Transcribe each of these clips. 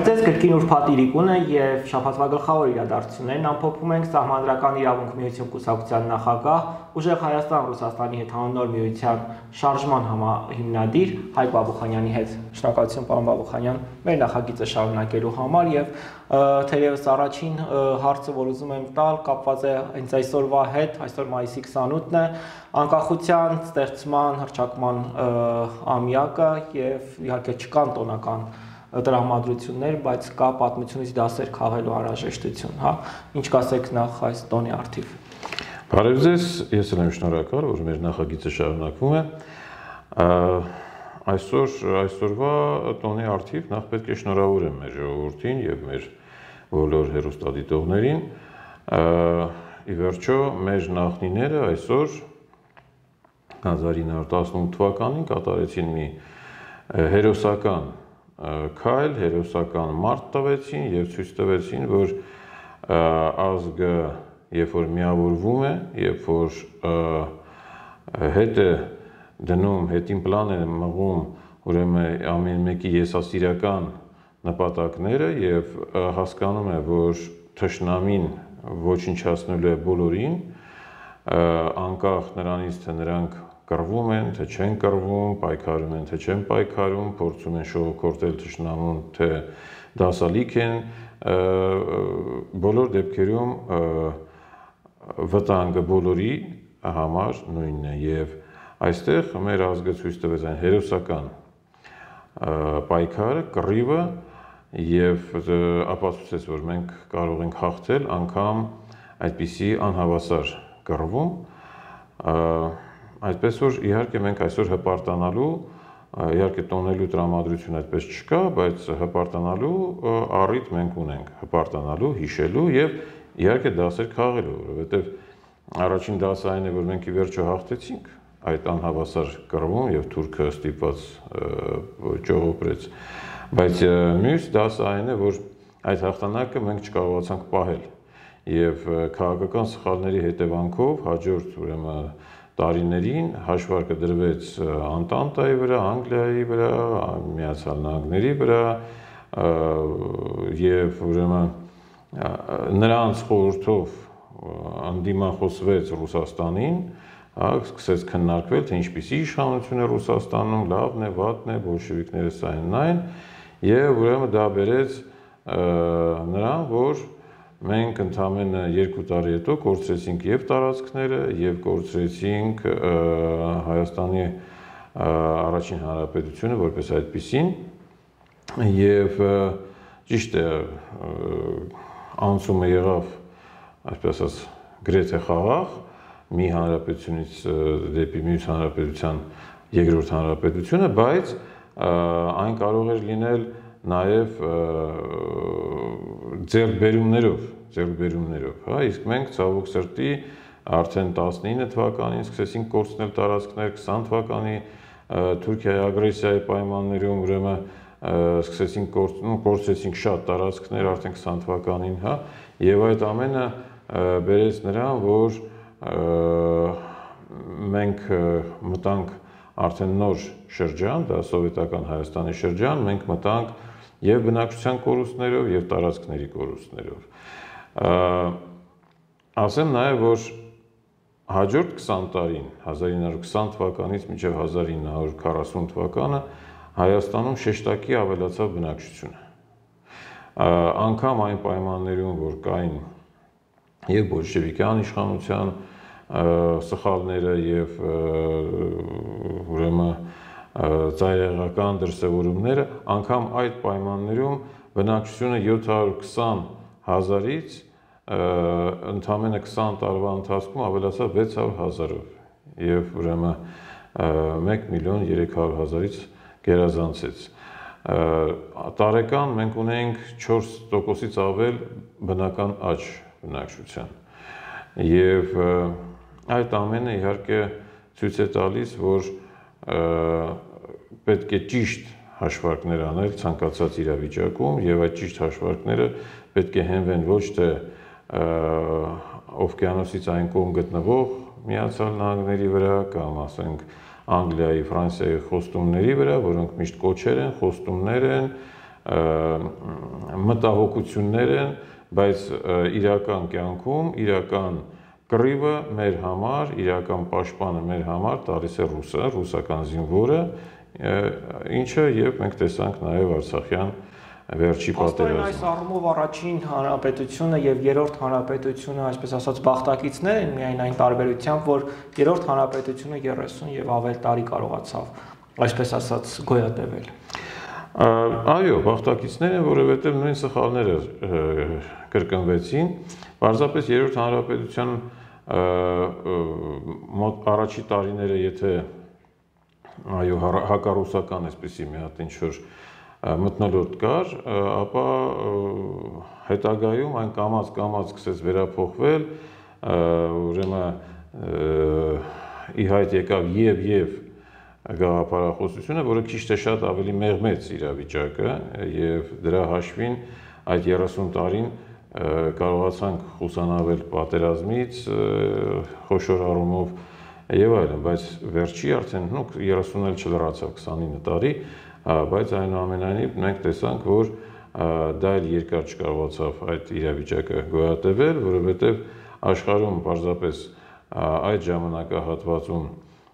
Բարև ձեզ, կրկին ուրբաթ իրիկուն է եւ շաբաթվա գլխավոր իրադարձություններն ամփոփում ենք Սահմանադրական իրավունք միություն կուսակցության նախագահ, Ուժեղ Հայաստան Ռուսաստանի հետ հանուն միության շարժման հիմնադիր Հայկ Բաբուխանյանի հետ։ Շնորհակալություն պարոն Բաբուխանյան, մեր նախագիծը շարունակելու համար եւ թերևս առաջին հարցը, որ ուզում եմ տալ, կապված է հենց այսօրվա հետ, այսօր մայիսի 28-ն է, անկախության ստեղծման հռչակման ամյակը եւ իհարկե չկան տոնական տրամադրություններ, բայց կա պատմությունից դասեր քաղելու անհրաժեշտություն, հա։ Ինչ կասեք նախ այս տոնի առթիվ։ Բարև ձեզ, ես եմ շնորհակալ, որ մեր նախագիծը շարունակվում է։ Այսօրվա տոնի առթիվ նախ պետք է շնորհավորեմ մեր ժողովրդին եւ մեր բոլոր հեռուստադիտողներին։ Ի վերջո մեր նախնիները այսօր 1918 թվականին կատարեցին մի հերոսական քայլ, հերոսական մարտ տվեցին եւ ցույց տվեցին, որ ազգը երբ որ միավորվում է, երբ որ հետ է դնում, հետին պլան է մղում, ուրեմն ամեն մեկի եսասիրական նպատակները եւ հասկանում է, որ թշնամին ոչնչացնելու է բոլորին, անկախ նրանից, թե նրանք կռվում են, թե չեն կռվում, պայքարում են, թե չեն պայքարում, փորձում են շողոքորթել թշնամուն, թե դասալիք են, բոլոր դեպքերում վտանգը բոլորի համար նույնն է եւ այստեղ մեր ազգը ցույց տվեց այն հերոսական պայքարը, կռիվը եւ ապացուցեց, որ մենք կարող ենք հաղթել անգամ այդպիսի անհավասար կռվում, այդպես որ իհարկե մենք այսօր հպարտանալու, իհարկե տոնելու տրամադրություն այդպես չկա, բայց հպարտանալու առիթ մենք ունենք, հպարտանալու, հիշելու եւ իհարկե դասեր քաղելու, որովհետեւ առաջին դասը այն է, որ մենք ի վերջո հաղթեցինք այդ անհավասար կռվում եւ թուրքը ստիպված ճողոպրեց, բայց մյուս դասը այն է, որ այդ հաղթանակը մենք չկարողացանք պահել եւ քաղաքական սխալների հետևանքով հաջորդ ուրեմն տարիներին հաշվարկը դրվեց Անտանտայի վրա, Անգլիայի վրա, Միացյալ Նահանգների վրա եւ ուրեմն նրանց խորհրդով անդիմախոսվեց Ռուսաստանին, սկսեց քննարկվել, թե ինչպիսի իշխանություն է Ռուսաստանում, լավն է, վատն է, բոլշևիկները սային այն եւ ուրեմն դա բերեց նրան, որ մենք ընդամենը 2 տարի հետո կորցրեցինք եւ տարածքները եւ կորցրեցինք Հայաստանի առաջին հանրապետությունը որպես այդպիսին եւ ճիշտ է անցումը եղավ այսպես ասած գրեթե խաղաղ մի հանրապետությունից դեպի մյուս հանրապետության երկրորդ հանրապետությունը, բայց այն կարող էր լինել նաև ձեռքբերումներով, հա, իսկ մենք ցավոք սրտի արդեն 19 թվականին սկսեցինք կորցնել տարածքներ, 20 թվականի Թուրքիայի ագրեսիայի պայմաններում ուրեմն սկսեցինք կորցրեցինք շատ տարածքներ արդեն 20 թվականին, հա, եւ այդ ամենը բերեց նրան, որ մենք մտանք արդեն նոր շրջան, դա սովետական Հայաստանի շրջան, մենք մտանք եւ բնակչության կորուստներով եւ տարածքների կորուստներով։ Ասեմ նաեւ, որ հաջորդ 20 տարին, 1920 թվականից մինչեւ 1940 թվականը Հայաստանում շեշտակի ավելացավ բնակչությունը։ Անգամ այն պայմաններում, որ կային եւ բոլշևիկյան իշխանության սխալները եւ ուրեմն ծայրահեղական դրսևորումները, անգամ այդ պայմաններում բնակչությունը 720 հազարից ընդամենը 20 տարվա ընթացքում ավելացավ 600 հազարով եւ ուրեմն 1.300.000-ից գերազանցեց։ Տարեկան մենք ունենք 4%-ից ավել բնական աճ բնակչության եւ այդ ամենը իհարկե ցույց է տալիս, որ պետք է ճիշտ հաշվարկներ անել ցանկացած իրավիճակում եւ այդ ճիշտ հաշվարկները պետք է հենվեն ոչ թե օվկիանոսից այն կողմ գտնվող Միացյալ Նահանգների վրա կամ ասենք Անգլիայի, Ֆրանսիայի խոստումների վրա, որոնք միշտ կոչեր են, խոստումներ են, մտահոգություններ են, բայց իրական կյանքում իրական կռիվը մեր համար, իրական պաշտպանը մեր համար տալիս է ռուսը, ռուսական զինվորը, ինչը եւ մենք տեսանք նաեւ Արցախյան վերջի պատերազմում։ Այս առումով առաջին հանրապետությունը եւ երրորդ հանրապետությունը, այսպես ասած, բախտակիցներ են միայն այն տարբերությամբ, որ երրորդ հանրապետությունը 30 եւ ավել տարի կարողացավ, այսպես ասած, գոյատևել։ Այո, բախտակիցներ են, որովհետեւ նույն սխալները կրկնվեցին, պարզապես երրորդ հանրապետության առաջի տարիները, եթե այո, հակառուսական այսպեսի մի հատ ինչ-որ մթնոլորտ կար, ապա հետագայում այն կամաց սկսեց վերափոխվել, ուրեմն ի հայտ եկավ եւ գաղափարախոսությունը, որը քիչ թե շատ ավելի մեղմեց իրավիճակը եւ դրա հաշվին այդ 30 տարին կարողացանք խուսանավել պատերազմից, խոշոր առումով եւ այլն, բայց վերջի արդեն 30-ն էլ չլրացավ 29 տարի, բայց այնուամենայնիվ մենք տեսանք, որ դա էլ երկար չկարողացավ այդ իրավիճակը գոյատևել, որովհետեւ աշխարհում պարզապես այդ ժամանակահատվածում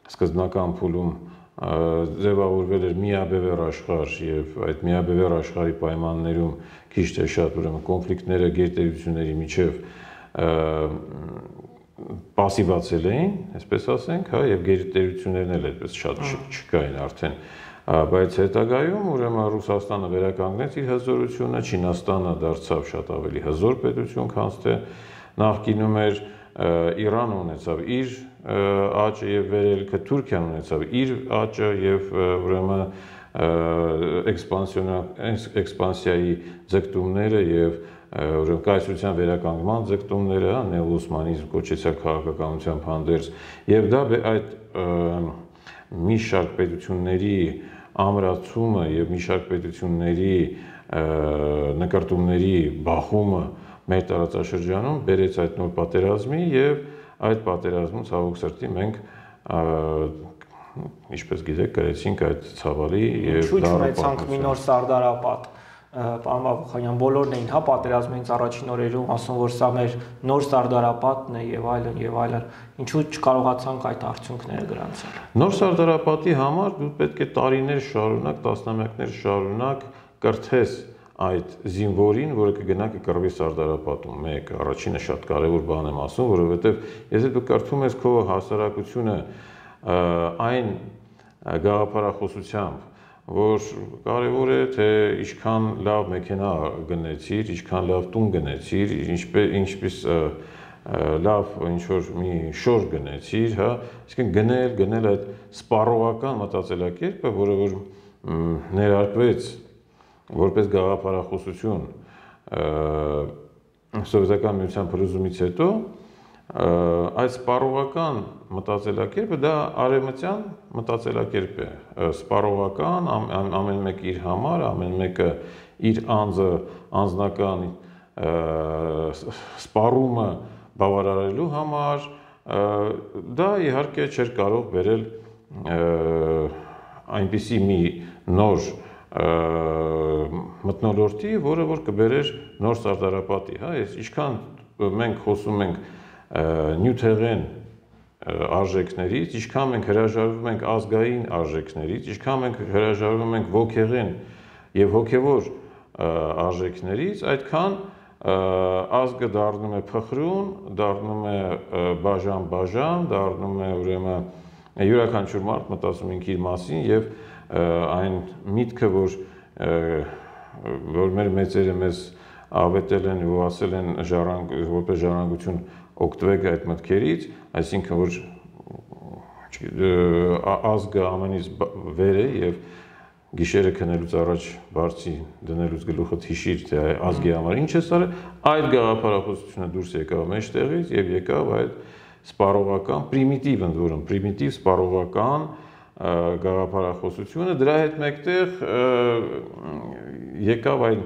սկզբնական փուլում ձևավորվել էր միաբևեռ աշխարհ եւ այդ միաբևեռ աշխարհի պայմաններում քիչ թե շատ ուրեմն կոնֆլիկտները գերտերությունների միջև պասիվացել էին, այսպես ասենք, հա, եւ գերտերություններն էլ այդպես շատ չկային արդեն, բայց հետագայում ուրեմն Ռուսաստանը վերականգնեց իր հզորությունը, Չինաստանը դարձավ շատ ավելի հզոր պետություն, քան թե նախկինում էր, Իրանը ունեցավ իր աճը եւ վերելքը, Թուրքիան ունեցավ իր աճը եւ ուրեմն էքսպանսիայի ձգտումները եւ ուրեմն կայսրության վերականգնման ձգտումները, նեոօսմանիզմ կոչեցյալ քաղաքականությամբ հանդերձ, եւ դա այդ մի շարք պետությունների ամրացումը եւ մի շարք պետությունների նկարտումների բախումը մեր տարածաշրջանում բերեց այդ նոր պատերազմի եւ այդ պատերազմում ցավոք սրտի մենք ինչպես գիտեք կրեցինք այդ ցավալի եւ դարապանք մի նոր սարդարապատ, պարոն Բաբուխանյան, բոլորն էին հա պատերազմից առաջին օրերում ասում, որ սա մեր նոր սարդարապատն է եւ այլն, ինչու չկարողացանք այդ արդյունքները գրանցել։ Նոր սարդարապատի համար դու պետք է տարիներ շարունակ, տասնամյակներ շարունակ կրթես այդ զինվորին, որը կգնա կկռվի սարդարապատում, մեկ, առաջինը շատ կարևոր բան եմ ասում, որովհետև եթե դու կրթում ես քո հասարակությունը այն գաղափարախոսությամբ, որ կարևոր է, թե ինչքան լավ մեքենա գնեցիր, ինչքան լավ տուն գնեցիր, ինչպես լավ ինչ-որ մի շոր գնեցիր, հա, այսինքն գնել այդ սպառողական մտածելակերպը, որը որ ներարկվեց որպես գաղափարախոսություն սովետական միության փլուզումից հետո, այդ սպառողական մտածելակերպը դա արևմտյան մտածելակերպ է, սպառողական, ամեն մեկ իր համար, ամեն մեկը իր անձնական սպառումը բավարարելու համար, դա իհարկե չէր կարող բերել այնպիսի մի նոր մթնոլորտի, որը որ կբերեր նոր սարդարապատի, հա, ինչքան մենք խոսում ենք նյութեղեն արժեքներից, ինչքան մենք հրաժարվում ենք ազգային արժեքներից, ինչքան մենք հրաժարվում ենք ոգեղեն եւ հոգեվոր արժեքներից, այդքան ազգը դառնում է փխրուն, դառնում է բաժան, դառնում է ուրեմն յուրաքանչյուր մարդ մտածում ինք իր մասին եւ այն միտքը, որ մեր մեծերը մեզ ավետել են ու ասել են որպես ժառանգություն օգտվեք այդ մտքերից, այսինքն որ ազգը ամենից վեր է եւ գիշերը քնելուց առաջ բարձի դնելուց գլուխդ հիշիր, թե ազգի համար ինչ ես արել, այդ գաղափարախոսությունը դուրս եկավ մեջտեղից եւ եկավ այդ սպառողական, պրիմիտիվ ընդ որում, պրիմիտիվ սպառողական գաղափարախոսությունը, դրա հետ մեկտեղ եկավ այն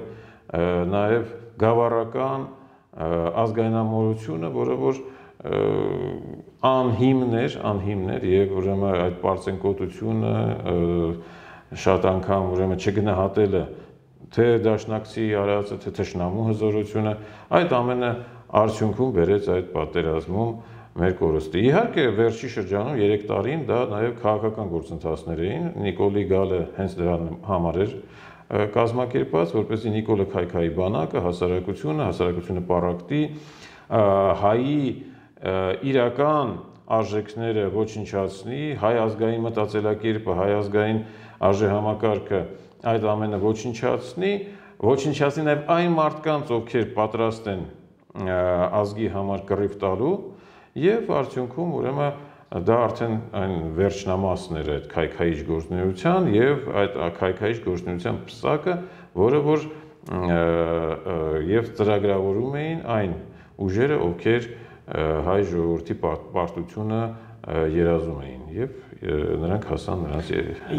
նաև գավառական ազգայնամոլությունը, որը որ անհիմն էր եւ ուրեմն այդ պարծենկոտությունը շատ անգամ ուրեմն չգնահատելը թե դաշնակցի արածը, թե թշնամու հզորությունը, այդ ամենը արդյունքում բերեց այդ պատերազմում մեր կորստի։ Իհարկե, վերջի շրջանում 3 տարին դա նաև քաղաքական գործընթացներ էին, Նիկոլի գալը հենց դրա համար էր կազմակերպված, որպեսզի Նիկոլը քայքայի բանակը, հասարակությունը պառակտի, հայի իրական արժեքները ոչնչացնի, հայ ազգային մտածելակերպը, հայ ազգային արժեհամակարգը այդ ամենը ոչնչացնի նաև այն մարդկանց, ովքեր պատրաստ են ազգի համար կռիվ տալու, եւ արդյունքում ուրեմն դա արդեն այն վերջնամասն էր այդ քայքայիչ գործունեության եւ այդ քայքայիչ գործունեության պսակը, որը որ եւ ծրագրավորում էին այն ուժերը, ովքեր հայ ժողովրդի պարտությունը երազում էին եւ նրանք հասան նրանց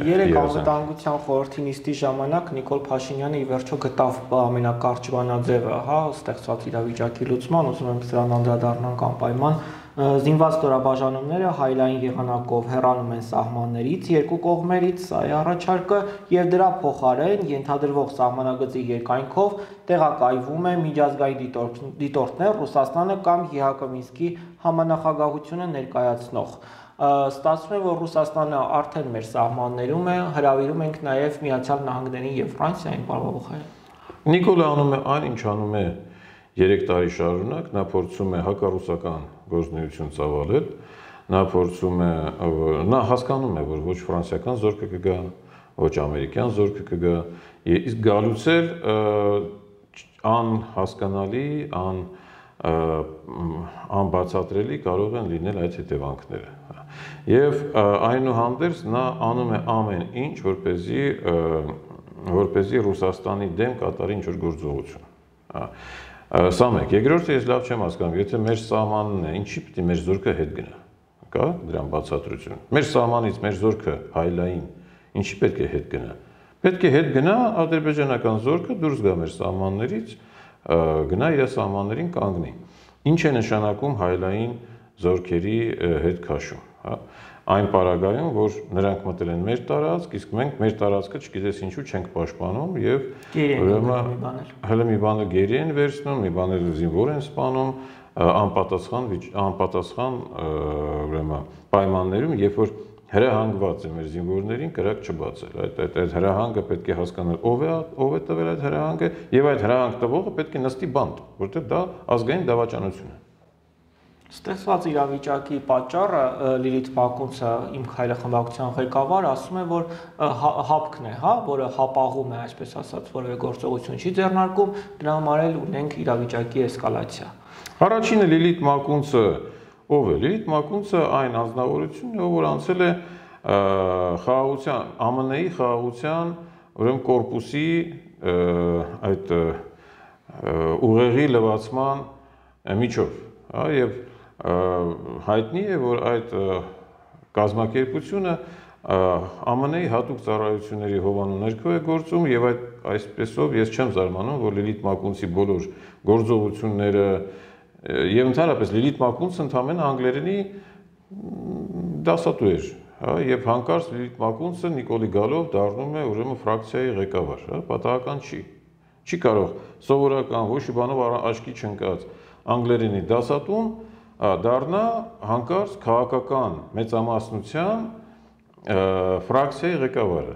երեք անվտանգության խորհրդի նիստի ժամանակ Նիկոլ Փաշինյանը ի վերջո գտավ ամենակարճ բանաձևը, ստեղծված իրավիճակի լուծման, ուզում եմ սրան անդրադառնանք անպայման զինված ստորաբաժանումները հայլային եղանակով հեռանում են սահմաններից երկու կողմերից, սա է առաջարկը, եւ դրա փոխարեն ենթադրվող սահմանագծի երկայնքով տեղակայվում է միջազգային դիտորդներ Ռուսաստանը կամ ՀՀԿ Մինսկի համանախագահությունը ներկայացնող։ Ստացվում է, որ Ռուսաստանը արդեն մեր սահմաններում է, հրավիրում ենք նաև Միացյալ Նահանգներին եւ Ֆրանսիային, պարոն Բողոյան։ Նիկոլը անում է այն, ինչ անում է 3 տարի շարունակ, նա փորձում է հակառուսական գործունեություն ծավալել, նա հասկանում է, որ ոչ ֆրանսիական զորքը կգա, ոչ ամերիկյան զորքը կգա, իսկ գալուց էլ անհասկանալի, անբացատրելի կարող են լինել այդ հետևանքները։ Եվ այնուհանդերձ նա անում է ամեն ինչ, որպեսզի Ռուսաստանի դեմ կատարի ինչ-որ գործողություն։ Սա մեկ, երկրորդը ես լավ չեմ հասկանում, եթե մեր սահմանն է, ինչի պիտի մեր զորքը հետ գնա, կա դրան բացատրություն։ Մեր սահմանից մեր զորքը հայլային, ինչի պետք է հետ գնա։ Պետք է հետ գնա ադրբեջանական զորքը դուրս գա մեր սահմաններից, գնա իր սահմաններին կանգնի։ Ինչ է նշանակում հայլային զորքերի հետ քաշում, այն պարագայում, որ նրանք մտել են մեր տարածք, իսկ մենք մեր տարածքը չգիտես ինչու չենք պաշտպանում եւ հələ մի բանը գերի են վերցնում, մի բաները զինվոր են սպանում, անպատասխան ուրեմն պայմաններում, երբ որ հրահանգված է մեր զինվորներին կրակ չբացել։ Այդ հրահանգը պետք է հասկանալ ով է տվել այդ հրահանգը եւ այդ հրահանգ տվողը պետք է նստի բանտ, որտեղ դա ազգային դավաճանություն է։ Ստեղծված իրավիճակի պատճառը Լիլիթ Մակունցը, իմ քայլը խմբակցության ղեկավար, ասում է, որ հապկն է, որը հապաղում է, այսպես ասած, որևէ գործողություն չի ձեռնարկում, դրա համար էլ ունենք իրավիճակի էսկալացիա։ Առաջինը Լիլիթ Մակունցը ով է։ Լիլիթ Մակունցը այն անձնավորությունն է, ով անցել է խաղաղության, ԱՄՆ-ի խաղաղության, ուրեմն կորպուսի այդ ուղեղի լվացման միջով, եւ հայտնի է, որ այդ կազմակերպությունը ԱՄՆ-ի հատուկ ծառայությունների հովանու ներքո է գործում եւ այսպեսով ես չեմ զարմանում, որ Լիլիթ Մակունցի բոլոր գործողությունները եւ ընդհանրապես Լիլիթ Մակունցը ընդամենը անգլերենի դասատու էր, եւ հանկարծ Լիլիթ Մակունցը Նիկոլի գալով դառնում է ուրեմն ֆրակցիայի ղեկավար, պատահական չի կարող սովորական ոչ մի բանով աչքի չընկած անգլերենի դասատուն դառնա հանկարծ քաղաքական մեծամասնության ֆրակցիայի ղեկավարը։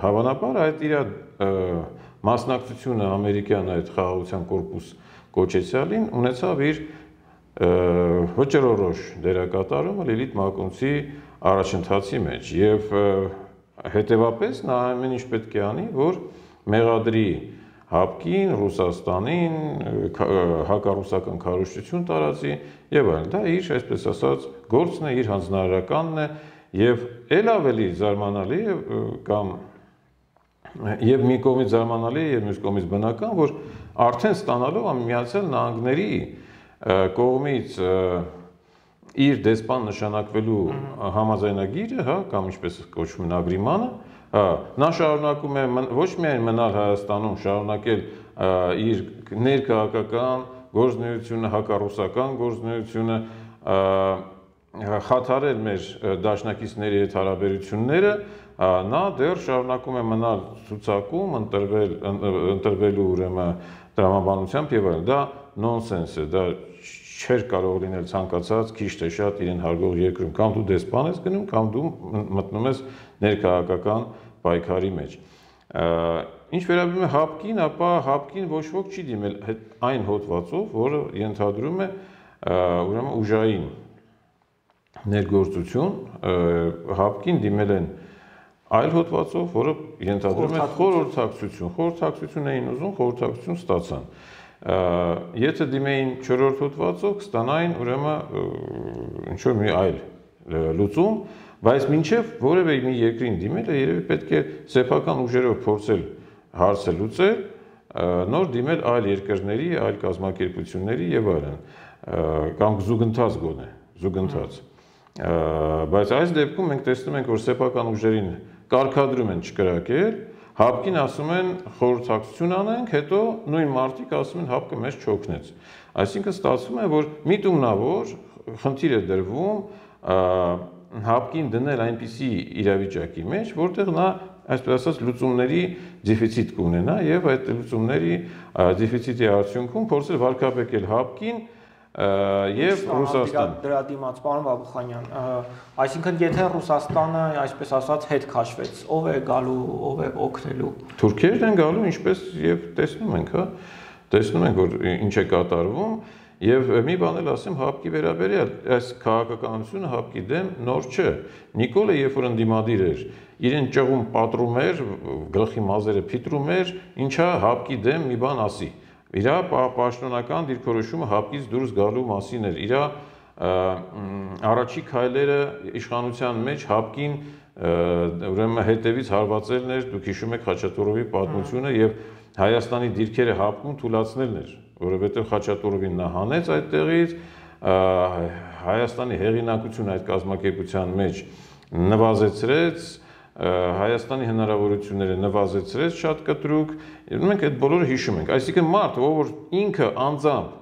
Հավանաբար այդ իր մասնակցությունը ամերիկյան այդ խաղաղության կորպուս կոչեցյալին ունեցավ իր վճռորոշ դերակատարումը Լիլիթ Մակունցի առաջընթացի մեջ եւ հետեւապես նա ամեն ինչ պետք է անի, որ մեղադրի հապկին, Ռուսաստանին, հակառուսական քարոզչություն տարածի եւ այլն։ Դա իր, այսպես ասած, գործն է, իր հանձնարարականն է եւ ել ավելի զարմանալի է կամ եւ մի կողմից զարմանալի է եւ մյուս կողմից բնական, որ արդեն ստանալով Միացյալ Նահանգների կողմից իր դեսպան նշանակվելու համաձայնագիրը, կամ ինչպես կոչվում է ագրիմանը, նա շարունակում է ոչ միայն մնալ Հայաստանում, շարունակել իր ներքաղաքական գործունեությունը, հակառուսական գործունեությունը խաթարել մեր դաշնակիցների հետ հարաբերությունները, նա դեռ շարունակում է մնալ ցուցակում, ընտրվելու ուրեմն տրամաբանությամբ եւ այլն։ Դա նոնսենս է, դա չէր կարող լինել ցանկացած քիչ թե շատ իրեն հարգող երկրում, կամ դու դեսպան ես գնում, կամ դու մտնում ես ներքաղաքական պայքարի մեջ։ Ինչ վերաբերում է ՀԱՊԿ-ին, ապա ՀԱՊԿ-ին ոչ ոք չի դիմել այն հոդվածով, որը ենթադրում է ուրեմն ուժային ներգործություն, ՀԱՊԿ-ին դիմել են այլ հոդվածով, որը ենթադրում է խորհրդակցություն էին ուզում, խորհրդակցություն ստացան։ Եթե դիմեին 4-րդ հոդվածով, կստանային ուրեմն ինչ որ մի այլ լուծում, բայց մինչև որևէ մի երկրին դիմելը երևի պետք է սեփական ուժերով փորձել հարցը լուծել, նոր դիմել այլ երկրների, այլ կազմակերպությունների եւ այլն, կամ զուգընթաց գոնե, զուգընթաց։ Բայց այս դեպքում մենք տեսնում ենք, որ սեփական ուժերին կարգադրում են չկրակել, ՀԱՊԿ-ին ասում են խորհրդակցություն անենք, հետո նույն մարդիկ ասում են ՀԱՊԿ-ը մեզ չօգնեց։ Այսինքն ստացվում է, որ միտումնավոր խնդիր է դրվում ՀԱՊԿ-ին դնել այնպիսի իրավիճակի մեջ, որտեղ նա, այսպես ասած, լուծումների դեֆիցիտ կունենա եւ այդ լուծումների դեֆիցիտի արդյունքում փորձել վարկաբեկել ՀԱՊԿ-ին եւ Ռուսաստան։ Դրա դիմաց, պարոն Բաբուխանյան, այսինքն եթե Ռուսաստանը, այսպես ասած, հետ քաշվեց, ով է գալու, ով է օգնելու։ Թուրքերն են գալու, ինչպես եւ տեսնում ենք, հա, տեսնում ենք, որ ինչ է կատարվում, եւ մի բան էլ ասեմ ՀԱՊԿ-ի վերաբերյալ, այս քաղաքականությունը ՀԱՊԿ-ի դեմ նոր չէ։ Նիկոլը, երբ որ ընդդիմադիր էր, իրեն ճղում պատռում էր, գլխի մազերը փիտրում էր, ինչա ՀԱՊԿ-ի դեմ մի բան ասի։ Իր պաշտոնական դիրքորոշումը ՀԱՊԿ-ից դուրս գալու մասին էր, իր առաջի քայլերը իշխանության մեջ ՀԱՊԿ-ին ուրեմն հետևից հարվածելն էր, դուք հիշում եք Խաչատուրովի պատմությունը եւ Հայաստանի դիրքերը ՀԱՊԿ-ում թույլատնելն էր, որովհետեւ Խաչատուրովին նա հանեց այդտեղից, Հայաստանի հեղինակությունը այդ կազմակերպության մեջ նվազեցրեց, Հայաստանի հնարավորությունները նվազեցրեց շատ կտրուկ, մենք այդ բոլորը հիշում ենք։ Այսինքն մարդը, ով ինքը անձամբ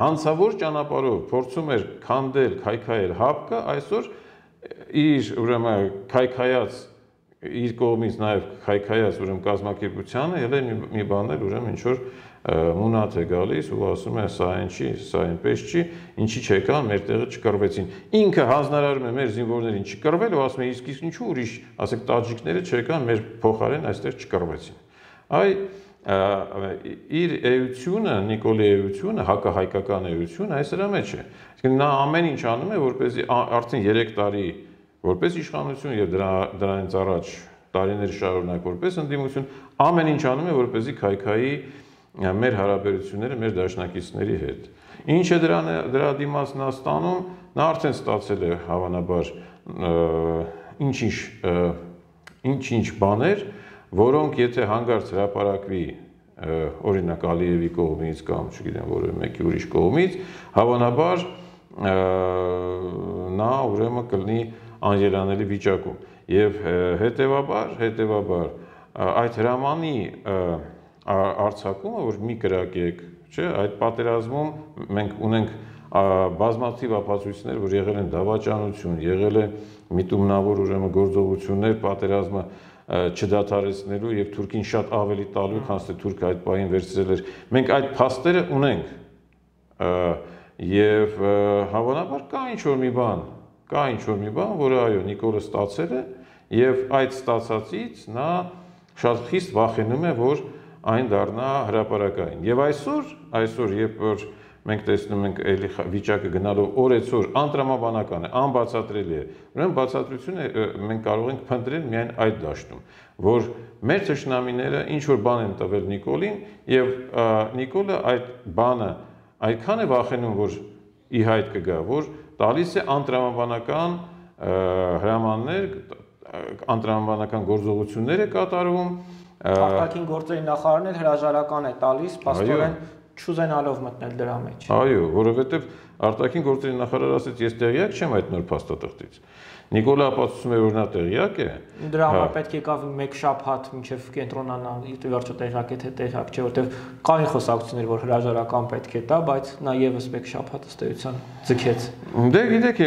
հանցավոր ճանապարհով փորձում էր քանդել, քայքայել ՀԱՊԿ-ը, այսօր իր ուրեմն քայքայած իր կողմից նաև քայքայած ուրեմն կազմակերպությանը ելե մի բան էլ ուրեմն ինչ որ մունատ է գալիս ու ասում է սա այն չի, սա այնպես չի, ինչի չեկան, մեր տեղը չկռվեցին։ Ինքը հանձնարարում է մեր զինվորներին չկռվել ու ասում է իսկ ինչու ուրիշ, ասեք տաջիկները չեկան, մեր փոխարեն այստեղ չկռվեցին։ Այ իր էությունը, Նիկոլի էությունը, հակահայկական էությունը այս դրա մեջ է։ Այսինքն նա ամեն ինչ անում է, որպեսզի արդեն 3 տարի որպես իշխանություն եւ դրանից առաջ տարիներ շարունակ որպես ընդդիմություն ամեն ինչ անում է, որպեսզի քայքայի մեր հարաբերությունները մեր դաշնակիցների հետ։ Ինչ է դրա դիմաց նա ստանում, նա արդեն ստացել է հավանաբար ինչ-ինչ բաներ, որոնք եթե հանգարց հրապարակվի օրինակ Ալիևի կողմից կամ չգիտեմ որևէ մեկի ուրիշ կողմից, հավանաբար նա ուրեմն կլինի անելանելի վիճակում եւ հետեւաբար այդ հրամանի արձակումը, որ մի կրակեք, չէ, այդ պատերազմում մենք ունենք բազմաթիվ ապացույցներ, որ եղել են դավաճանություն, եղել է միտումնավոր ուրեմն գործողություններ պատերազմը չդադարեցնելու եւ Թուրքին շատ ավելի տալու, քան թե Թուրքը այդ պահին վերցրել էր։ Մենք այդ փաստերը ունենք եւ հավանաբար կա ինչ-որ մի բան, որը այո, Նիկոլը ստացել է եւ այդ ստացածից նա շատ խիստ վախենում է, որ այն դառնա հրապարակային։ Եվ այսօր, երբ որ մենք տեսնում ենք էլի վիճակը գնալով օրեցօր անտրամաբանական է, անբացատրելի է, ուրեմն բացատրությունը մենք կարող ենք փնտրել միայն այդ դաշտում, որ մեր թշնամիները ինչ որ բան են տվել Նիկոլին եւ Նիկոլը այդ բանը այդքան է վախենում, որ ի հայտ կգա, որ տալիս է անտրամաբանական հրամաններ, անտրամաբանական գործողություններ է կատարում։ Արտաքին գործերի նախարարն էլ հրաժարական է տալիս, փաստորեն չուզենալով մտնել դրա մեջ։ Այո, որովհետև արտաքին գործերի նախարարը ասաց, ես տեղյակ չեմ այդ նոր փաստաթղթից։ Նիկոլը ապացուցում է, որ նա տեղյակ է։ Դրա համար պետք է եկավ մեկ շաբաթ մինչև կենտրոնանան, վերջը տեղյակ է թե տեղյակ չէ, որտեղ կային խոսակցություններ, որ հրաժարական պետք է տա, բայց նա եւս մեկ շաբաթ ըստ էության ձգեց։ Դե գիտեք,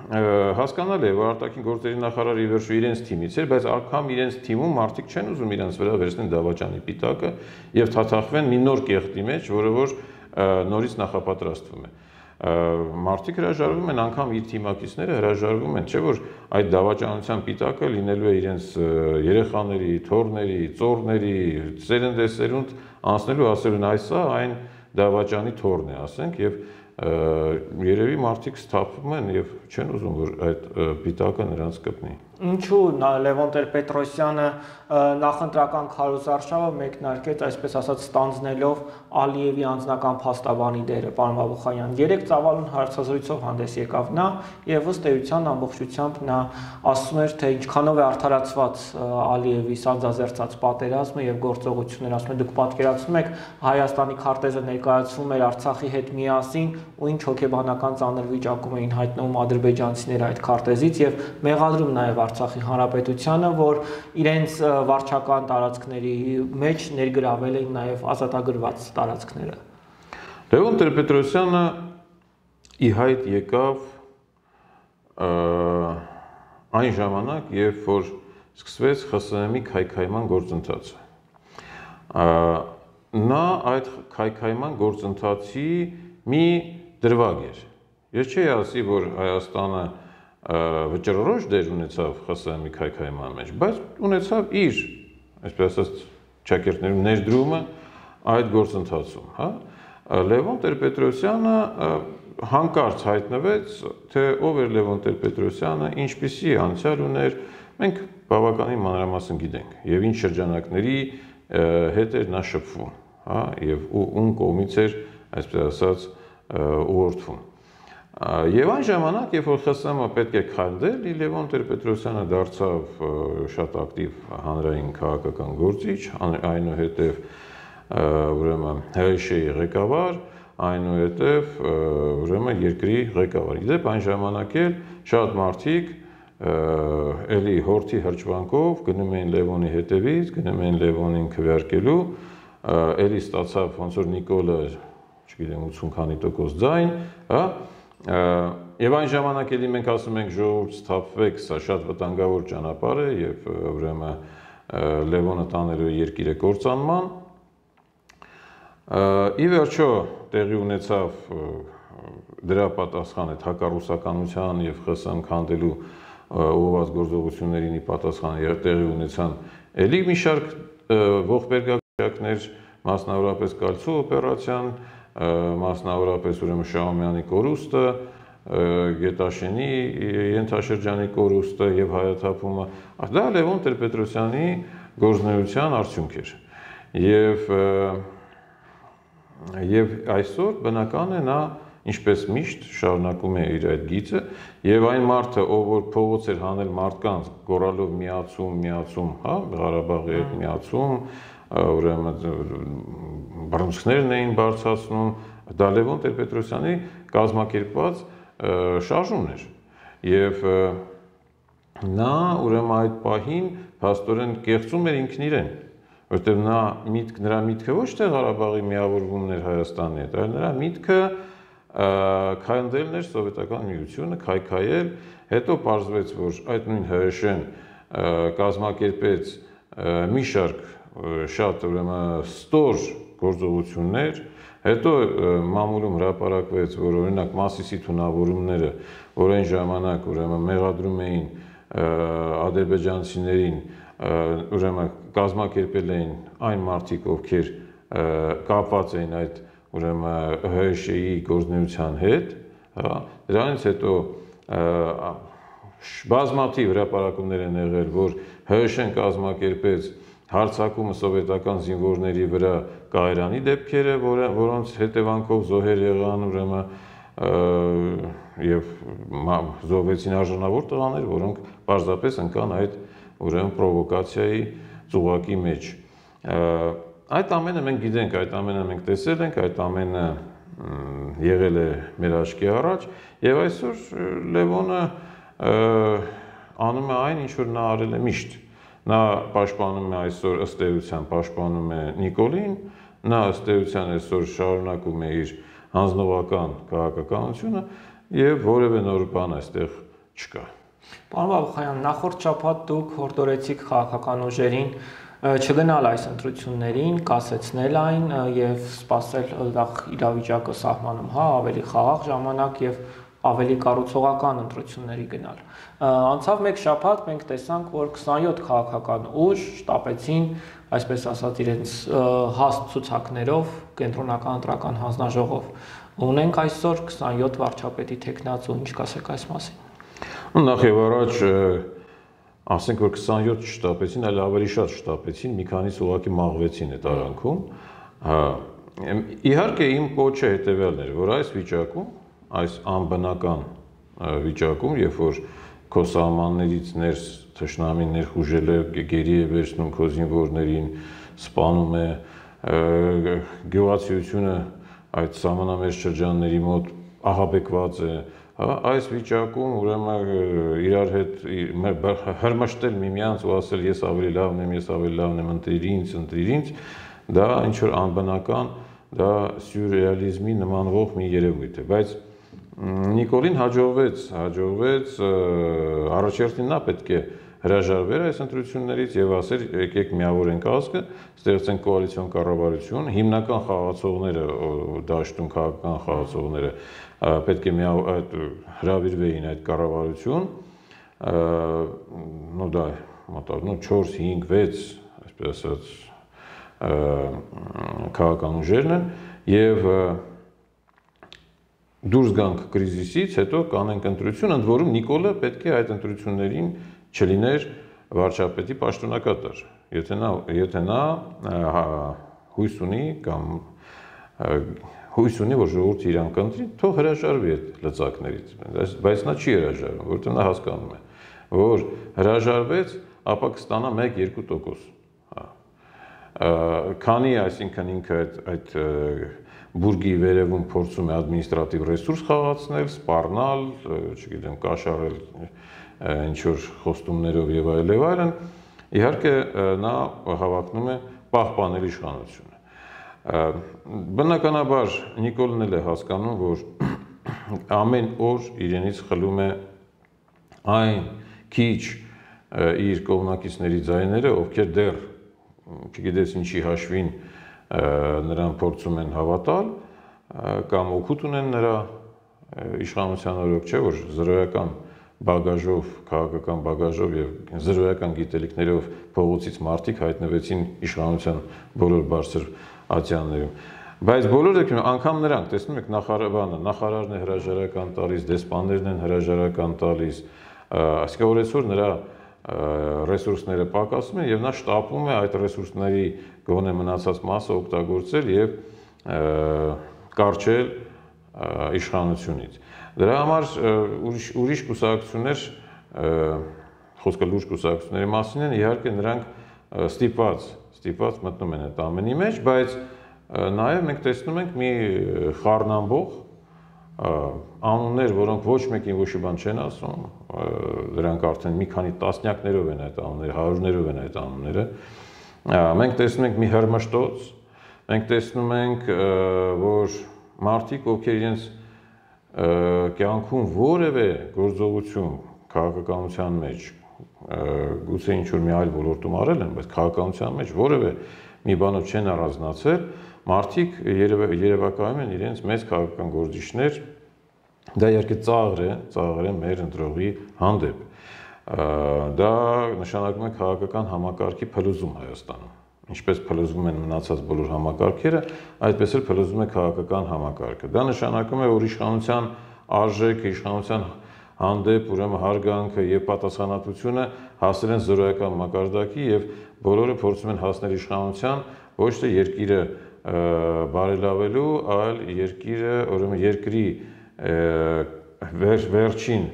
հասկանալի է, որ արտաքին գործերի նախարարը ի վերջո իրենց թիմից էր, բայց անգամ իրենց թիմում մարդիկ չեն ուզում իրենց վրա վերցնեն դավաճանի պիտակը եւ թաթախվեն մի նոր կեղտի մեջ, որը որ նորից նախապատրաստվում է։ Մարդիկ հրաժարվում են, անգամ իր թիմակիցները հրաժարվում են, չէ՞ որ այդ դավաճանության պիտակը լինելու է իրենց երեխաների, թոռների, ծոռների, սերնդեսերունդ անցնելու, ասելուն այսա այն դավաճանի թոռն է, ասենք, եւ երևի մարդիկ սթափվում են եւ չեն ուզում, որ այդ պիտակը նրանց կպնի։ Ինչու Լևոն Տեր-Պետրոսյանը նախընտրական քարոզարշավը մեկնարկեց, այսպես ասած, ստանձնելով Ալիևի անձնական փաստաբանի դերը, պարոն Բաբուխանյան։ Երեք ծավալուն հարցազրույցով հանդես եկավ նա եւ ըստ էության ամբողջությամբ նա ասում էր, թե ինչքանով է արդարացված Ալիևի սանձազերծած պատերազմը եւ գործողությունները, ասում է, դուք պատկերացնում եք Հայաստանի քարտեզը ներկայացվում էր Արցախի հետ միասին ու ինչ հոգեբանական ծանր վիճակում էին հայտնվում ադրբեջանցիները այդ քարտեզից եւ մեղադրում նաեւ Արցախի հանրապետությանը, որ իրենց վարչական տարածքների մեջ ներգրավել էին նաև ազատագրված տարածքները։ Լևոն Տեր-Պետրոսյանը ի հայտ եկավ այն ժամանակ, երբ որ սկսվեց ԽՍՀՄ-ի քայքայման գործընթացը։ Նա այդ քայքայման գործընթացի մի դրվագ էր։ Ես չի ասի, որ Հայաստանը վճռորոշ դեր ունեցավ ԽՍՀՄ-ի քայքայման մեջ, բայց ունեցավ իր, այսպես ասած, ճակերտներում ներդրումը այդ գործընթացում, հա։ Լևոն Տեր-Պետրոսյանը հանկարծ հայտնվեց, թե ով էր Լևոն Տեր-Պետրոսյանը, ինչպիսի անցյալ ուներ, մենք բավականին մանրամասն գիտենք, եւ ինչ շրջանակների հետ էր նա շփվում, հա, եւ ում կողմից էր, այսպես ասած, ուղղորդվում։ Եվ այն ժամանակ, երբ որ ԽՍՀՄ պետք է քանդել, Լևոն Տեր-Պետրոսյանը դարձավ շատ ակտիվ հանրային քաղաքական գործիչ, այնուհետև ուրեմն ՀՀՇ-ի ղեկավար, այնուհետև ուրեմն երկրի ղեկավար։ Իդեպ այն ժամանակ էլ շատ մարդիկ էլի հորթի հրճվանքով գնում էին Լևոնի հետևից, գնում էին Լևոնին քվեարկելու, էլի ստացավ ոնց որ Նիկոլը, չգիտեմ, 80 քանի տոկոս ձայն, հա։ Եվ այն ժամանակ էլի մենք ասում ենք ժողովուրդ սթափվեք, սա շատ վտանգավոր ճանապարհ է եւ ուրեմն Լևոնը տանելու երկիրը կործանման։ Ի վերջո տեղի ունեցավ դրա պատասխանը հակառուսականության եւ ԽՍՀՄ քանդելու ուղղված գործողություններին ի պատասխան տեղի ունեցան էլի մի շարք ողբերգակցներ, մասնավորապես Կալցու օպերացիան, մասնավորապես ուրեմն Շահումյանի կորուստը, Գետաշենի ենթաշրջանի կորուստը եւ հայաթափումը, դա Լևոն Տեր-Պետրոսյանի գործունեության արդյունք էր։ Եվ այսօր բնական է նա ինչպես միշտ շարունակում է իր այդ գիծը եւ այն մարդը, ով որ փողոց էր հանել մարդկանց գոռալով միացում, հա, Ղարաբաղի հետ միացում, ուրեմն բռնցքներն էին բարձրացնում, դա Լևոն Տեր-Պետրոսյանի կազմակերպված շարժումն էր եւ նա ուրեմն այդ պահին փաստորեն կեղծում էր ինքն իրեն, որտեղ նրա միտքը ոչ թե Ղարաբաղի միավորումն էր Հայաստանի հետ, այլ նրա միտքը քայնդելն էր սովետական միությունը, քայքայել, հետո պարզվեց, որ այդ նույն ՀՀՇ-ն կազմակերպեց մի շարք շատ ուրեմն ստոր գործողություններ, հետո մամուլում հրապարակվեց, որ օրինակ Մասիսի թունավորումները, որ այն ժամանակ ուրեմն մեղադրում էին ադրբեջանցիներին, ուրեմն կազմակերպել էին այն մարդիկ, ովքեր կապված էին այդ ուրեմն ՀՀՇ-ի գործունեության հետ, հա, դրանից հետո բազմաթիվ հրապարակումներ են եղել, որ ՀՀՇ-ն կազմակերպեց հարձակումը սովետական զինվորների վրա Կայարանի դեպքերը, որոնց հետևանքով զոհեր եղան ուրեմն եւ զոհվեցին արժանավոր տղաներ, որոնք պարզապես ընկան այդ ուրեմն պրովոկացիայի ծուղակի մեջ։ Այդ ամենը մենք գիտենք, այդ ամենը մենք տեսել ենք, այդ ամենը եղել է մեր աչքի առաջ, եւ այսօր Լևոնը անում է այն, ինչ որ նա արել է միշտ։ Նա պաշտպանում է այսօր ըստ էության պաշտպանում է Նիկոլին, նա ըստ էության այսօր շարունակում է իր հանձնողական քաղաքականությունը եւ որևէ նոր բան այստեղ չկա։ Պարոն Բաբախանյան, նախորդ շաբաթ դուք հորդորեցիք քաղաքական ուժերին չգնալ այս ընտրություններին, կասեցնել այն եւ սպասել այդտեղ իրավիճակը սահմանում, ավելի խաղաղ ժամանակ եւ ավելի կառուցողական ընտրությունների գնալ։ Անցավ մեկ շաբաթ մենք տեսանք, որ 27 քաղաքական ուժ շտապեցին, այսպես ասած, իրենց հաստ ցուցակներով կենտրոնական ընտրական հանձնաժողով։ Ունենք այսօր 27 վարչապետի թեկնածու, ինչ կասեք այս մասին։ Նախ եւ առաջ ասենք որ 27 շտապեցին, այլ ավելի շատ շտապեցին, մի քանիսը ուղղակի մաղվեցին այդ արանքում։ Իհարկե իմ կոչը հետեւյալն էր, որ այս վիճակում, այս անբնական վիճակում, երբ որ քո սահմաններից ներս թշնամին ներխուժել է, գերի է վերցնում քո զինվորներին, սպանում է, գյուղացիությունը այդ սահմանամերձ շրջանների մոտ ահաբեկված է, այս վիճակում ուրեմն իրար հետ հրմշտել միմյանց ու ասել ես ավելի լավն եմ, ընտրիր ինձ, դա ինչ որ անբնական, դա սյուրռեալիզմի նմանվող մի երևույթ է, բայց Նիկոլին հաջողվեց առաջերտին նա պետք է հրաժարվեր այս ընտրություններից եւ ասեր եկեք միավորենք ազգը, ստեղծենք կոալիցիոն կառավարություն, հիմնական խաղացողները դաշտում քաղաքական խաղացողները պետք է հրավիրվեին այդ կառավարություն, դա մոտավորապես 4, 5, 6, այսպես ասած քաղաքական ուժերն են եւ դուրս գանք կրիզիսից, հետո կանենք ընտրություն, ընդ որում Նիկոլը պետք է այդ ընտրություններին չլիներ վարչապետի պաշտոնակատար, եթե նա հույս ունի, որ ժողովուրդը իրան կընտրի, թող հրաժարվի այդ լծակներից, բայց նա չի հրաժարվում, որովհետև նա հասկանում է, որ հրաժարվեց, ապա կստանա 1-2%, քանի այսինքն ինքը այդ բուրգի վերևում փորձում է ադմինիստրատիվ ռեսուրս խաղացնել, սպառնալ, չգիտեմ, կաշառել ինչ-որ խոստումներով եւ այլն, իհարկե նա հավակնում է պահպանել իշխանությունը։ Բնականաբար Նիկոլն էլ է հասկանում, որ ամեն օր իրենից խլում է այն քիչ իր կողմնակիցների ձայները, ովքեր դեռ չգիտես ինչի հաշվին նրան փորձում են հավատալ կամ օգուտ ունեն նրա իշխանության օրոք, չէ՞ որ զրոյական բագաժով, քաղաքական բագաժով եւ զրոյական գիտելիքներով փողոցից մարդիկ հայտնվեցին իշխանության բոլոր բարձր ատյաններում։ Բայց բոլոր դեպքերում անգամ նրանք տեսնում եք նախարարն է հրաժարական տալիս, դեսպաններն են հրաժարական տալիս, այսինքն որ այսօր նրա ռեսուրսները պակասում են եւ նա շտապում է այդ ռեսուրսների գոնե մնացած մասը օգտագործել եւ կարճել իշխանությունից։ Դրա համար ուրիշ կուսակցություններ, խոսքը լուրջ կուսակցությունների մասին են, իհարկե նրանք ստիպված մտնում են այդ ամենի մեջ, բայց նաեւ մենք տեսնում ենք մի խառնամբող անուններ, որոնք ոչ մեկին ոչ մի բան չեն ասում, դրանք արդեն մի քանի տասնյակներով են այդ անունները, հարյուրներով են այդ անունները։ Մենք տեսնում ենք մի հրմշտոց, մենք տեսնում ենք, որ մարդիկ, ովքեր իրենց կյանքում որևէ գործողություն քաղաքականության մեջ, գուցե ինչ-որ մի այլ ոլորտում արել են, բայց քաղաքականության մեջ որևէ մի բանով չեն առանձնացել, մարդիկ երևակայում են իրենց մեծ քաղաքական գործիչներ, դա իհարկե ծաղր է մեր ընտրողի հանդեպ։ Դա նշանակում է քաղաքական համակարգի փլուզում Հայաստանում։ Ինչպես փլուզվում են մնացած բոլոր համակարգերը, այդպես էլ փլուզվում է քաղաքական համակարգը։ Դա նշանակում է, որ իշխանության արժեքը, իշխանության հանդեպ ուրեմն հարգանքը եւ պատասխանատվությունը հասել են զրոյական մակարդակի եւ բոլորը փորձում են հասնել իշխանության ոչ թե երկիրը բարելավելու, այլ երկիրը, ուրեմն երկրի վերջին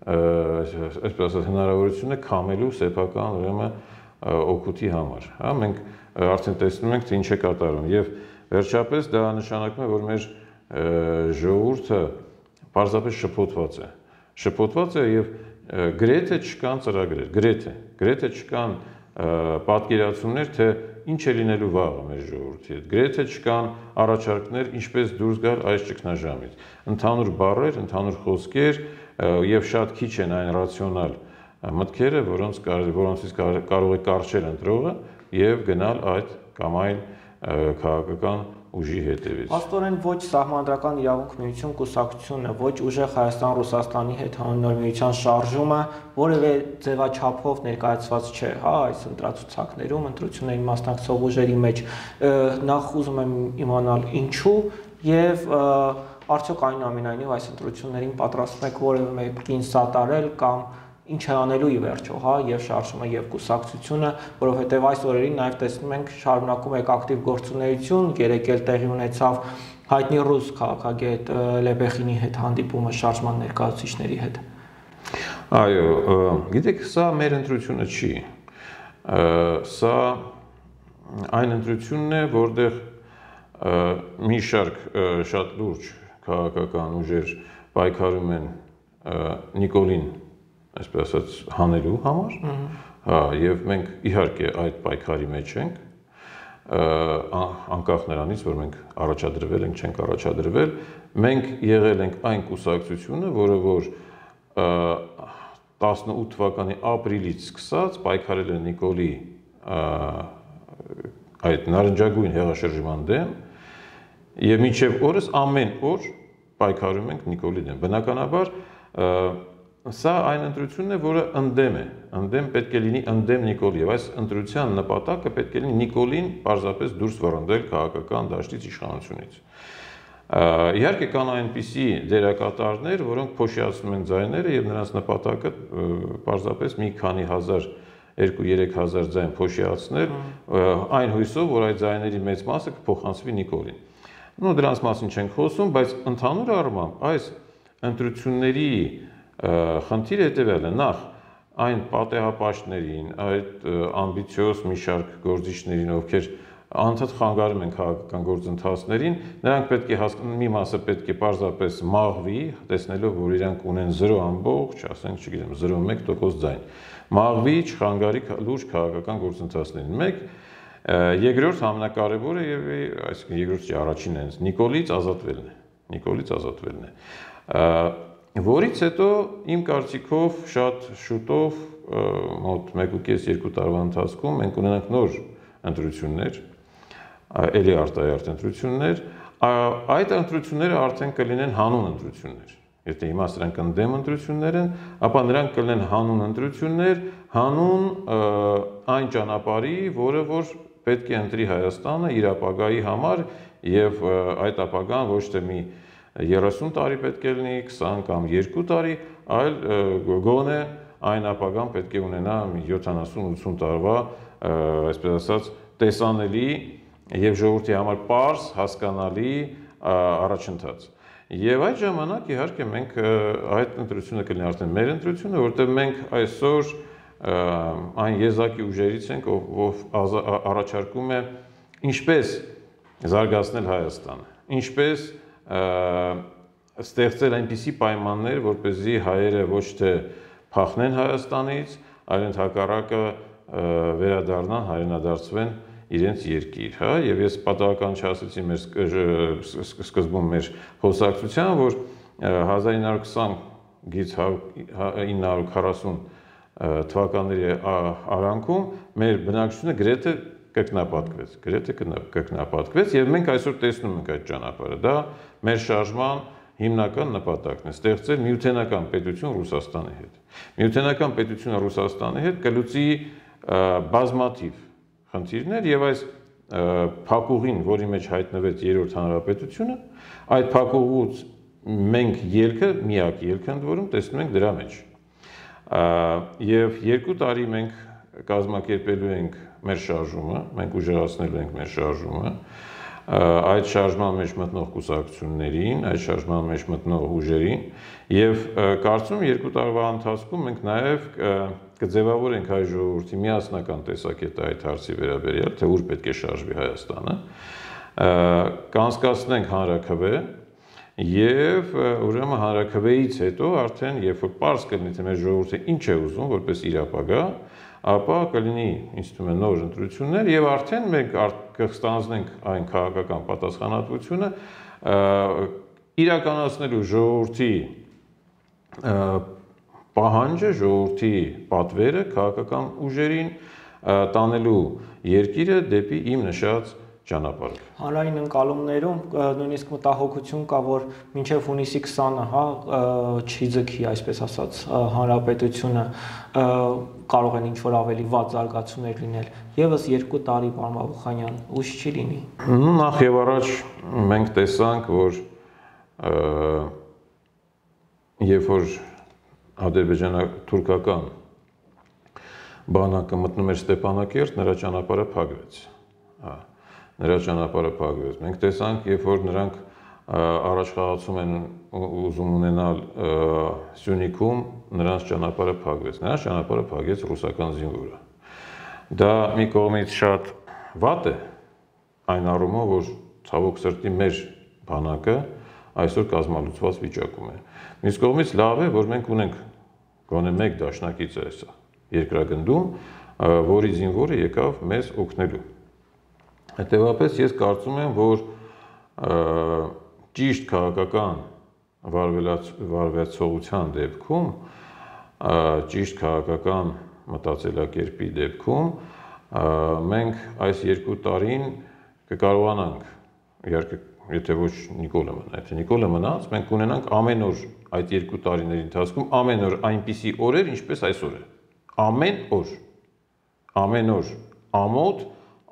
այսպես ասած հնարավորությունը քամելու սեփական ուրեմն օգուտի համար, հա, մենք արդեն տեսնում ենք, թե ինչ է կատարում եւ վերջապես դա նշանակում է, որ մեր ժողովուրդը պարզապես շփոթված է եւ գրեթե չկան ծրագրեր, գրեթե չկան պատկերացումներ, թե ինչ է լինելու վաղը մեր ժողովրդի հետ, գրեթե չկան առաջարկներ, ինչպես դուրս գալ այս ճգնաժամից, ընդհանուր բառեր, ընդհանուր խոսքեր եւ շատ քիչ են այն ռացիոնալ մտքերը, որոնցից կարող է կարճել ընտրողը եւ գնալ այդ կամ այլ քաղաքական ուժի հետևից։ Աստորեն ոչ Սահմանադրական իրավունք միություն կուսակցությունը, ոչ ուժեղ Հայաստան-Ռուսաստանի հետ հանրօր միության շարժումը որևէ ձևաչափով ներկայացված չէ, հա, այս ընտրացուցակներում, ընտրություններին մասնակցող ուժերի մեջ։ Նախ ուզում եմ իմանալ ինչու եւ արդյոք այնուամենայնիվ այս ընտրություններին պատրաստվում եք որևէ մեկին սատարել կամ ինչ է անելու ի վերջո, հա, եւ շարժումը եւ կուսակցությունը, որովհետեւ այս օրերին նաեւ տեսնում ենք շարունակում եք ակտիվ գործունեություն, երեք էլ տեղի ունեցավ հայտնի ռուս քաղաքագետ Լեբեխինի հետ հանդիպումը շարժման ներկայացուցիչների հետ։ Այո, գիտեք, սա մեր ընտրությունը չի։ Սա այն ընտրությունն է, որտեղ մի շարք շատ լուրջ քաղաքական ուժեր պայքարում են Նիկոլին, այսպես ասած, հանելու համար, հա, եւ մենք իհարկե այդ պայքարի մեջ ենք, անկախ նրանից, որ մենք առաջադրվել ենք, չենք առաջադրվել, մենք եղել ենք այն կուսակցությունը, որը որ 18 թվականի ապրիլից սկսած պայքարել է Նիկոլի այդ նարնջագույն հեղաշրջման դեմ եւ մինչեւ օրս ամեն օր պայքարում ենք Նիկոլի դեմ։ Բնականաբար սա այն ընտրությունն է, որը ընդդեմ պետք է լինի ընդդեմ Նիկոլի եւ այս ընտրության նպատակը պետք է լինի Նիկոլին պարզապես դուրս վռնդել քաղաքական դաշտից իշխանությունից։ Իհարկե կան այնպիսի դերակատարներ, որոնք փոշիացնում են ձայները եւ նրանց նպատակը պարզապես մի քանի հազար 2-3 հազար ձայն փոշիացնել այն հույսով, որ այդ ձայների մեծ մասը կփոխանցվի Նիկոլին։ Նո դրանց մասին չենք խոսում, բայց ընդհանուր առմամբ այս ընտրությունների խնդիրը հետևյալն է, նախ այն պատեհապաշտներին, այդ ամբիցիոզ մի շարք գործիչներին, ովքեր անդադ խանգարում են քաղաքական գործընթացներին, նրանք պետք է մի մասը պետք է պարզապես մաղվի, տեսնելով, որ իրանք ունեն 0, ասենք, չգիտեմ, 0.1% ձայն, մաղվի, չխանգարի լուրջ քաղաքական գործընթացներին։ Մեկ, երկրորդ ամենակարևորը եւ այսինքն երկրորդի առաջինն է, Նիկոլից ազատվելն է։ Որից հետո իմ կարծիքով շատ շուտով, մոտ 1.5-2 տարվա ընթացքում մենք ունենանք նոր ընտրություններ, էլի արտահայտ ընտրություններ, այդ ընտրությունները արդեն կլինեն հանուն ընտրություններ։ Եթե հիմա սրանք ընդդեմ ընտրություններ են, ապա նրանք կլինեն հանուն ընտրություններ, հանուն այն ճանապարհի, որը որ պետք է ընտրի Հայաստանը իր ապագայի համար եւ այդ ապագան ոչ թե մի 30 տարի պետք է լինի, 20 կամ 2 տարի, այլ գոնե այն ապագան պետք է ունենա 70-80 տարվա, այսպես ասած, տեսանելի եւ ժողովրդի համար պարզ, հասկանալի առաջընթաց։ Եվ այդ ժամանակ իհարկե մենք այդ ընտրությունը կլինի արդեն մեր ընտրությունը, որտեղ մենք այսօր այն եզակի ուժերից ենք, ով առաջարկում է ինչպես զարգացնել Հայաստանը, ինչպես ստեղծել այնպիսի պայմաններ, որպեսզի հայերը ոչ թե փախնեն Հայաստանից, այլ ընդհակառակը վերադառնան, հայրենադարձվեն իրենց երկիր, հա, եւ ես պատահական չասեցի մեր սկզբում մեր խոսակցության, որ 1920-ից 1940 թվականների արանքում մեր բնակչությունը գրեթե կրկնապատկվեց եւ մենք այսօր տեսնում ենք այդ ճանապարհը, դա մեր շարժման հիմնական նպատակն է, ստեղծել միութենական պետություն Ռուսաստանի հետ։ Միութենական պետությունը Ռուսաստանի հետ կլուծի բազմաթիվ խնդիրներ եւ այս փակուղին, որի մեջ հայտնվեց երրորդ հանրապետությունը, այդ փակուղուց մենք միակ ելքը ընդ որում տեսնում ենք դրա մեջ։ Եվ 2 տարի մենք կազմակերպելու ենք մեր շարժումը, մենք ուժեղացնելու ենք մեր շարժումը, այդ շարժման մեջ մտնող կուսակցություններին, այդ շարժման մեջ մտնող ուժերին եւ կարծում եմ 2 տարվա ընթացքում մենք նաեւ կձևավորենք հայ ժողովրդի միասնական տեսակետը այդ հարցի վերաբերյալ, թե ուր պետք է շարժվի Հայաստանը, կանցկացնենք հանրաքվե եւ ուրեմն հանրաքվեից հետո արդեն երբ որ պարզ կլինի թե մեր ժողովուրդը ինչ է ուզում որպես իր ապագա, ապա կլինի ինձ թվում է նոր ընտրություններ եւ արդեն մենք կստանձնենք այն քաղաքական պատասխանատվությունը իրականացնելու ժողովրդի պահանջը, ժողովրդի պատվերը քաղաքական ուժերին տանելու երկիրը դեպի իմ նշած ճանապարհը։ Հանրային ընկալումներում նույնիսկ մտահոգություն կա, որ մինչև հունիսի 20-ը, հա, չի ձգի, այսպես ասած, հանրապետությունը կարող են ինչ-որ ավելի վատ զարգացումներ լինել։ Եվս 2 տարի, պարոն Բաբուխանյան, ուշ չի լինի։ Նախ եւ առաջ մենք տեսանք, որ երբ որ ադրբեջանա-թուրքական բանակը մտնում էր Ստեփանակերտ, նրա ճանապարհը փակվեց։ Նրա ճանապարհը փակվեց։ Մենք տեսանք, երբ որ նրանք առաջխաղացում են ուզում ունենալ Սյունիքում, նրանց ճանապարհը փակվեց։ Նրանց ճանապարհը փակեց ռուսական զինվորը։ Դա մի կողմից շատ վատ է, այն առումով, որ ցավոք սրտի մեր բանակը այսօր կազմալուծված վիճակում է։ Մյուս կողմից լավ է, որ մենք ունենք գոնե մեկ դաշնակից այսա երկրագնդում, որի զինվորը եկավ մեզ օգնելու։ Հետևաբար ես կարծում եմ, որ ճիշտ քաղաքական վարվեցողության դեպքում, ճիշտ քաղաքական մտածելակերպի դեպքում մենք այս 2 տարին կկարողանանք, իհարկե, եթե ոչ Նիկոլը մնա, եթե Նիկոլը մնաց, մենք կունենանք ամեն օր այդ 2 տարիների ընթացքում ամեն օր այնպիսի օրեր, ինչպես այսօր է։ Ամեն օր ամոթ,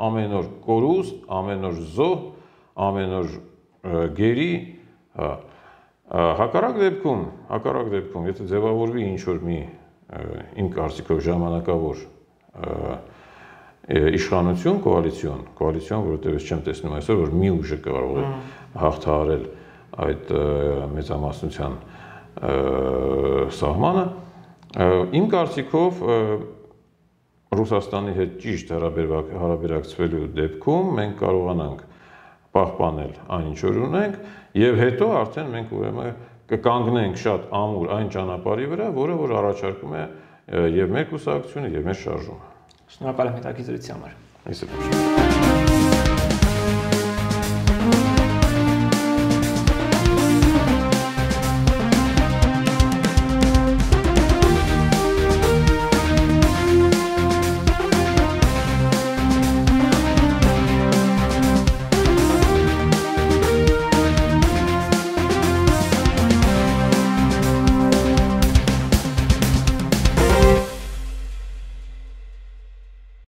ամեն օր կորուստ, ամեն օր զոհ, ամեն օր գերի, հակառակ դեպքում, եթե ձևավորվի ինչ-որ մի իմ կարծիքով ժամանակավոր իշխանություն, կոալիցիոն, որովհետև ես չեմ տեսնում այսօր, որ մի ուժը կարող է հաղթահարել այդ մեծամասնության սահմանը, իմ կարծիքով Ռուսաստանի հետ ճիշտ հարաբերակցվելու դեպքում մենք կարողանանք պահպանել այն ինչ որ ունենք եւ հետո արդեն մենք ուրեմն կկանգնենք շատ ամուր այն ճանապարհի վրա, որը որ առաջարկում է եւ մեր կուսակցությունը եւ մեր շարժումը։ Շնորհակալ եմ հետաքրքրության համար։ Այսպես։